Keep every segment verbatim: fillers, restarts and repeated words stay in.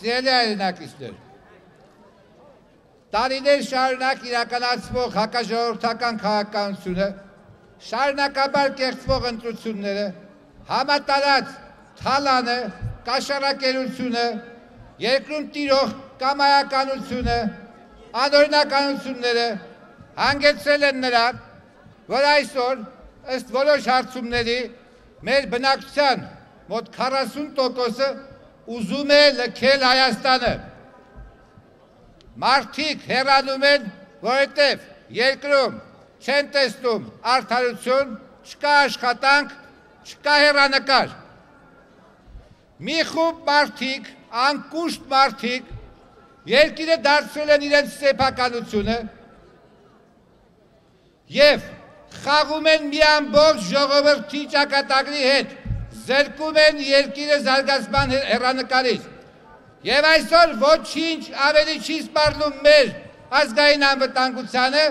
Սիրելի հայրենակիցներ, տարիներ շարունակ իրականացվող հակաժողովրդական քաղաքականությունը, շարունակաբար կեղծվող ընտրությունները, համատարած թալանը, կաշառակերությունը, երկրում տիրող կամայականությունը, անօրինականությունները հանգեցրել են նրան, որ այսօր ըստ որոշ հարցումների մեր բնակչության մոտ քառասուն տոկոսը ուզում է լքել Հայաստանը։ Մարդիկ հեռանում են, որովհետև երկրում չեն տեսնում արդարություն, չկա աշխատանք, չկա հեռանկար։ Մի խումբ մարդիկ, անկուշտ մարդիկ, երկիրը դարձրել են իրենց սեփականությունը և խաղում են մի ամբողջ ժողովրդի ճակատագրի հետ, զրկում են երկիրը զարգացման հեռանկարից։ Եվ այսօր ոչինչ ավելի չի սպառնում մեր ազգային անվտանգությանը,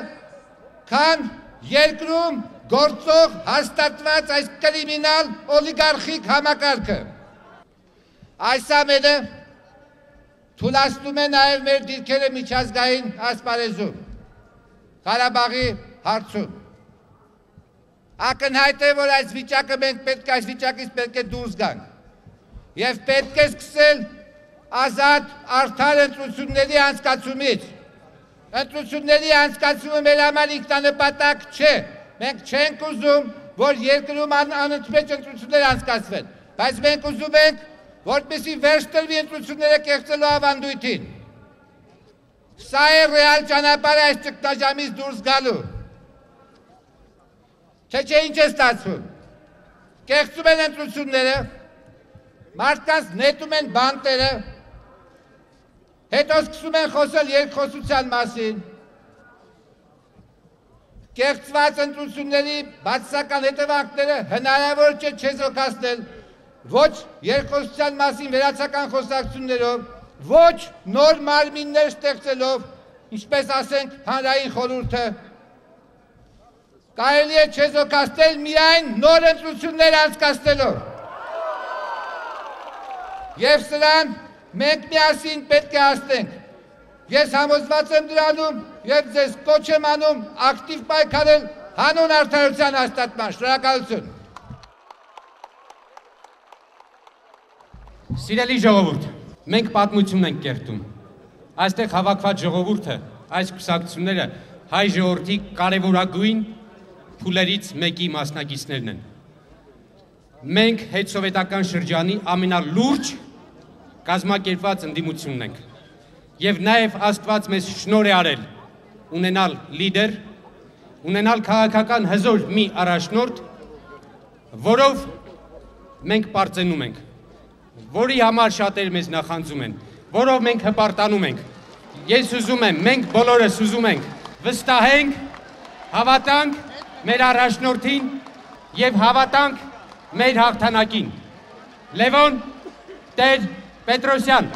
քան երկրում գործող հաստատված այս կրիմինալ օլիգարխիկ համակարգը։ Այս ամենը թուլացնում է նաև մեր դիրքերը միջազգային ասպարեզում, Ղարաբաղի հարցում։ Ակնհայտ է, որ այս վիճակը մենք պետք է այս վիճակից պետք է դուրս գանք եւ պետք է սկսել ազատ արդար ընտրությունների անցկացումից։ Ընտրությունների անցկացումը մեր համար ինքնանպատակ չէ։ Մենք չենք ուզում, որ երկրում անընդմեջ ընտրություններ անցկացվեն, բայց մենք ուզում ենք, որպեսզի վերջ տրվի ընտրությունները կեղծելու ավանդույթին։ Սա է ռեալ ճանապարհը այս ճգնաժամից դուրս գալու։ Չէ, չէ, ինչ է ստացվում։ Կեղծում են ընտրությունները, մարդկանց նետում են բանտերը, հետո սկսում են խոսել երկխոսության մասին։ Կեղծված ընտրությունների բացասական հետևանքները հնարավոր չէ չեզոքացնել ոչ երկխոսության մասին վերացական խոսակցություններով, ոչ նոր մարմիններ ստեղծելով, ինչպես ասենք հանրային խորհուրդը, կարելի է չեզոքացնել միայն նոր ընտրություններ անցկացնելով։ Եվ սրան մենք միասին պետք է հասնենք։ Ես համոզված եմ դրանում և ձեզ կոչ եմ անում ակտիվ պայքարել հանուն արդարության հաստատման։ Շնորհակալություն։ Սիրելի ժողովուրդ, մենք պատմություն ենք կերտում։ Այստեղ հավաքված ժողովուրդը, այս կուսակցությունները հայ ժողովրդի կարևորագույն փուլերից մեկի մասնակիցներն են։ Մենք հետսովետական շրջանի ամենալուրջ կազմակերպված ընդդիմությունն ենք։ Եվ նաև Աստված մեզ շնորհ է արել ունենալ լիդեր, ունենալ քաղաքական հզոր մի առաջնորդ, որով մենք պարծենում ենք, որի համար շատերը մեզ նախանձում են, որով մենք հպարտանում ենք։ Ես ուզում եմ, մենք բոլորս ուզում ենք վստահենք, հավատանք մեր առաջնորդին և հավատանք մեր հաղթանակին։ Լևոն Տեր-Պետրոսյան։